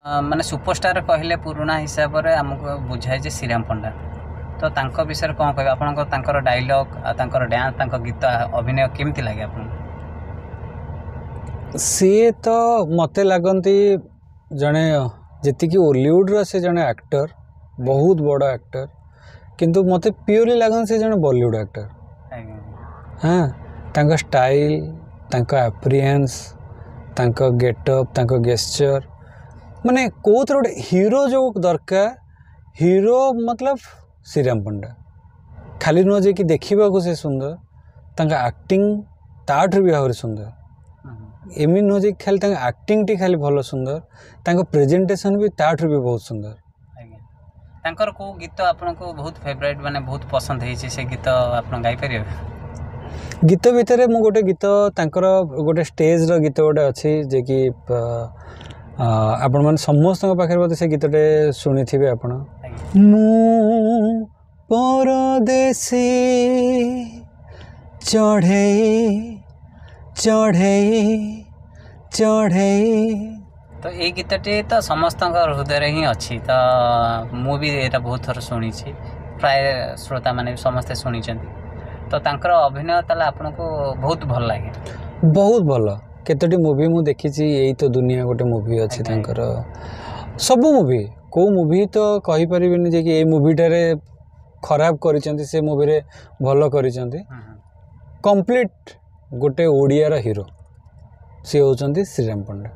ମାନେ ସୁପରଷ୍ଟାର କହିଲେ ପୁରୁଣା ହିସାବରେ ଆମକୁ ବୁଝାଏ ଯେ ଶ୍ରୀରାମ ପଣ୍ଡା। ତ ତାଙ୍କ ବିଷୟରେ କ'ଣ କହିବେ? ଆପଣଙ୍କ ତାଙ୍କର ଡାଇଲଗ୍ ଆଉ ତାଙ୍କର ଡ୍ୟାନ୍ସ, ତାଙ୍କ ଗୀତ, ଅଭିନୟ କେମିତି ଲାଗେ ଆପଣଙ୍କୁ? ସିଏ ତ ମୋତେ ଲାଗନ୍ତି ଜଣେ, ଯେତିକି ଓଲିଉଡ଼ର ସେ ଜଣେ ଆକ୍ଟର, ବହୁତ ବଡ଼ ଆକ୍ଟର, କିନ୍ତୁ ମୋତେ ପିଓରଲି ଲାଗନ୍ତି ସେ ଜଣେ ବଲିଉଡ଼ ଆକ୍ଟର। ହଁ, ତାଙ୍କ ଷ୍ଟାଇଲ୍, ତାଙ୍କ ଆପିୟରାନ୍ସ, ତାଙ୍କ ଗେଟଅପ୍, ତାଙ୍କ ଗେସ୍ଚର୍, ମାନେ କେଉଁଥିରେ ଗୋଟେ ହିରୋ ଯେଉଁ ଦରକାର, ହିରୋ ମତଲବ ଶ୍ରୀରାମ ପଣ୍ଡା। ଖାଲି ନୁହଁ ଯେ କି ଦେଖିବାକୁ ସେ ସୁନ୍ଦର, ତାଙ୍କ ଆକ୍ଟିଂ ତାଠୁ ବି ଆହୁରି ସୁନ୍ଦର। ଏମିତି ନୁହଁ ଯେ ଖାଲି ତାଙ୍କ ଆକ୍ଟିଂଟି ଖାଲି ଭଲ ସୁନ୍ଦର, ତାଙ୍କ ପ୍ରେଜେଣ୍ଟେସନ୍ ବି ତାଠୁ ବି ବହୁତ ସୁନ୍ଦର। ଆଜ୍ଞା, ତାଙ୍କର କେଉଁ ଗୀତ ଆପଣଙ୍କୁ ବହୁତ ଫେଭରାଇଟ୍, ମାନେ ବହୁତ ପସନ୍ଦ ହେଇଛି, ସେ ଗୀତ ଆପଣ ଗାଇପାରିବେ? ଗୀତ ଭିତରେ ମୁଁ ଗୋଟେ ଗୀତ, ତାଙ୍କର ଗୋଟେ ଷ୍ଟେଜ୍ର ଗୀତ ଗୋଟେ ଅଛି ଯେ କି ଆପଣମାନେ ସମସ୍ତଙ୍କ ପାଖରେ ବୋଧେ ସେ ଗୀତଟେ ଶୁଣିଥିବେ ଆପଣ। ମୁଁ ପରଦେଶୀ ଚଢ଼େଇ ଚଢ଼େଇ ଚଢ଼େଇ। ତ ଏଇ ଗୀତଟି ତ ସମସ୍ତଙ୍କ ହୃଦୟରେ ହିଁ ଅଛି। ତ ମୁଁ ବି ଏଇଟା ବହୁତ ଥର ଶୁଣିଛି, ପ୍ରାୟ ଶ୍ରୋତାମାନେ ବି ସମସ୍ତେ ଶୁଣିଛନ୍ତି। ତ ତାଙ୍କର ଅଭିନୟ ତାହେଲେ ଆପଣଙ୍କୁ ବହୁତ ଭଲ ଲାଗେ? ବହୁତ ଭଲ। କେତୋଟି ମୁଭି ମୁଁ ଦେଖିଛି, ଏଇ ତ ଦୁନିଆ ଗୋଟେ ମୁଭି ଅଛି, ତାଙ୍କର ସବୁ ମୁଭି, କେଉଁ ମୁଭି ତ କହିପାରିବିନି ଯେ କି ଏଇ ମୁଭିଟାରେ ଖରାପ କରିଛନ୍ତି, ସେ ମୁଭିରେ ଭଲ କରିଛନ୍ତି। କମ୍ପ୍ଲିଟ୍ ଗୋଟେ ଓଡ଼ିଆର ହିରୋ ସିଏ ହେଉଛନ୍ତି ଶ୍ରୀରାମ ପଣ୍ଡା।